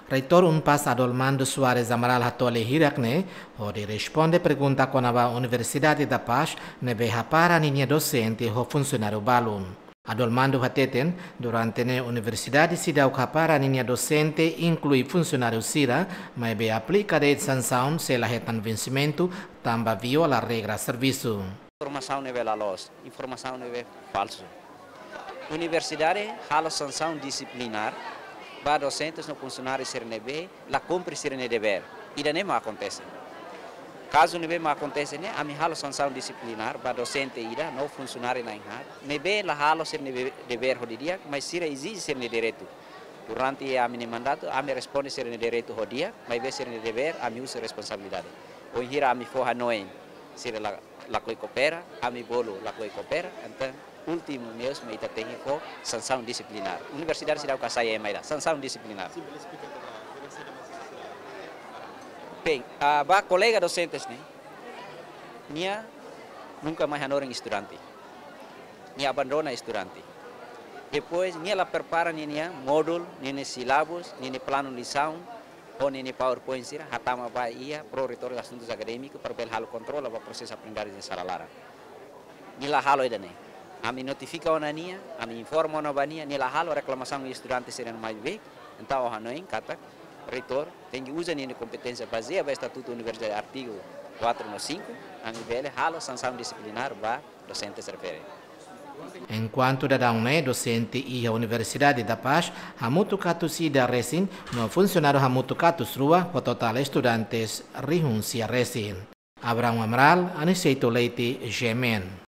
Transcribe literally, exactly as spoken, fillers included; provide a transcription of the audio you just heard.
Reitór UNPAZ Adolmando Soares Amaral hato'o lia hirak ne'e, hodi responde pergunta kona-ba Universidade da Paz ne'ebé hapara ninia dosente ho funsionáriu balu. Adolmando hateten, durante ne'e universidade seidauk hapara ninia dosente inklui funsionáriu sira, maibé aplika de'it sansaun sei la hetan vensimentu, tanba viola regra servisu. Informasaun ne'ebé la loos, informasaun ne'ebé falsu. Universidade halo sansaun disiplinár ba dosentes no funsionáriu sira ne'ebé la kumpre sira-nia devér. Ida-ne'e mak akontese. Kazu ne'ebé mak akontese ne'e, ami halo sansaun disiplinár ba dosente ida no funsionáriu na'in haat ne'ebé la halo sira-nia devér ho didi'ak, mas sira ezije sira-nia direitu. Durante ami-nia mandatu, ami responde sira-nia direitu ho di'ak, maibé sira-nia devér, ami husu responsabilidade. Wainhira ami fó hanoin, sira la, lakohi koopera, ami bolu lakohi koopera, entaun últimu meius mak ita tenke fó sansaun disiplinár. Universidade seidauk hasai ema ida, sansaun disiplinár. Bem, ah, ba kolega dosentes ne'e, nia nunka mais hanorin estudante. Nia abandona estudante. Depois, nia la prepara ninia módulu, ninia sílabus, ninia planu lisaun, ou ninia PowerPoint sira, hatama ba iha Pró-Reitór Asuntus Akadémikus, para bele halo kontrola ba prosesu aprendizajen sala laran. Nia la halo ida-ne'e. Ami notifika ona nia, ami informa ona ba nia, nia la halo, reklamasaun estudante sira mai bek, entaun ha'u hanoin katak reitór tenke uza ninia kompeténsia bazeia ba Estatutu Universidade artigu quatro no cinco, ami bele halo sansaun disiplinár ba dosentes refere. Enkuantu daudaun ne'e dosente iha Universidade da Paz hamutuk atus ida resin, no funsionáriu hamutuk atus rua, ho totál estudantes rihun sia resin. Abrão Amaral, Aniceto Leite, G M N.